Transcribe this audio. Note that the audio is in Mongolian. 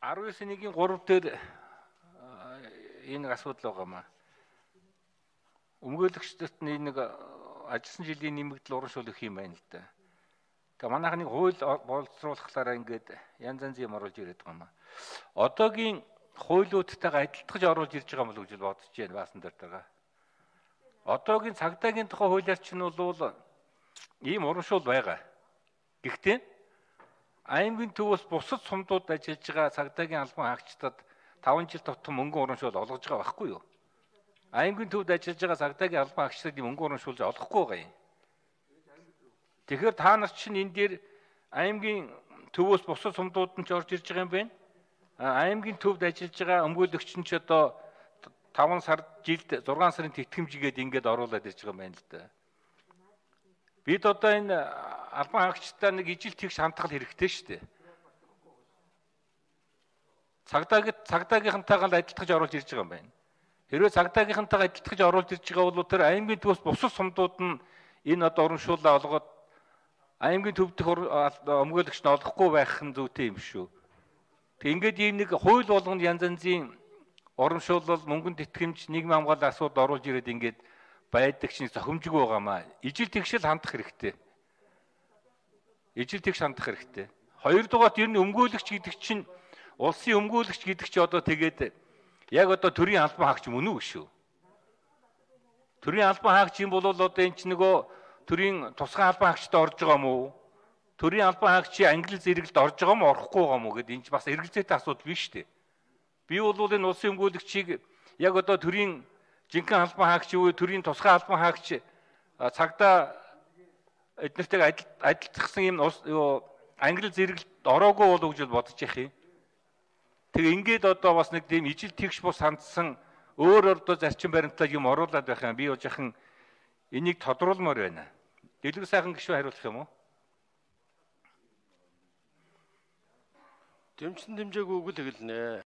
19-ийн 3 дээр энэ асуудал байгаамаа. Өмгөөлөгчдөрт нэг ажилласан жилийн нэмэгдэл урамшуул өгөх юм байна л да. Гэхдээ манайхны хууль боловсруулахлаараа ингээд янз янзын юм оруулж ирээд байгаа юм аа. Одоогийн хуулиудтайгаа адилтгаж оруулж ирж байгаа юм бол гэж бодож байна баасан дээр байгаа. Одоогийн цагдаагийн тухай хуулиар чинь бол ийм урамшуул байгаа. Гэхдээ аймгийн төвөөс бусад сумдууд ажиллаж байгаа цагдаагийн албан хаагчдад 5 жил тутам мөнгө урамшуул олгож байгаа байхгүй юу? Аймгийн төвд ажиллаж байгаа цагдаагийн албан хаагчдад мөнгө урамшуулж олохгүй байгаа юм. Тэгэхээр та нар чинь энэ дээр аймгийн төвөөс бусад сумдууд нь ч орж ирж байгаа юм байна. Аймгийн төвд ажиллаж байгаа өмгөөлөгч нь ч одоо 5 сард жилд 6 сарын тэтгэмжгээд ингээд оруулаад ирж байгаа юм байна л да. Бид одоо энэ албан хаагчдаа нэг ижил тэгш хандгал хэрэгтэй шүү дээ. Цагдаагийнхантайгаа адилтгаж оруулж ирж байгаа юм байна. Хэрвээ цагдаагийнхантайгаа адилтгаж оруулж ирж байгаа бол тэр аймгийн төвөөс бусад сумдууд нь энэ одоо урамшууллаа олгоод аймгийн төв дэх өмгөөлөгч нь олохгүй байх нь зүйтэй юм шүү. Тэг ингээд ийм нэг хууль болгонд янз янзын урамшуулал, мөнгөнд тэтгэмж, нийгмийн хамгааллын асуудал оруулж ирээд ингээд байдаг чинь зохимжгүй байгаамаа. Ижил тэгшэл хандах хэрэгтэй. Ижил тэгш хандах хэрэгтэй. Хоёрдугаарт ер нь өмгөөлөгч гэдэг чинь улсын өмгөөлөгч гэдэг чинь одоо тэгээд яг одоо төрийн албан хаагч мөн үү шүү. Төрийн албан хаагч юм бол одоо энэ чинь нөгөө төрийн тусгай албан хаагчтай орж байгаа юм уу? Төрийн албан хаагчийн англи зэрэгэлд орж байгаа юм уу, орохгүй байгаа юм уу гэдэг энэ чинь бас эргэлзээтэй асуудал биш үү? Би бол энэ улсын өмгөөлөгчийг яг одоо төрийн жинхэнэ албан хаагч юу, төрийн тусгай албан хаагч цагдаа эднэртэйг адилтгсан юм англи зэрэгэлд ороогүй болов гэж бодож их юм. Тэгээ ингээд одоо бас нэг тийм ижил тэгш бус хандсан өөр одоо зарчим баримтаа юм оруулаад байх юм. Би бол жахан энийг тодруулмаар байна. Дэлгэр сайхан гишүүн хариулах юм уу? Дэмжсэн дэмжээгүй үг л хэлнэ.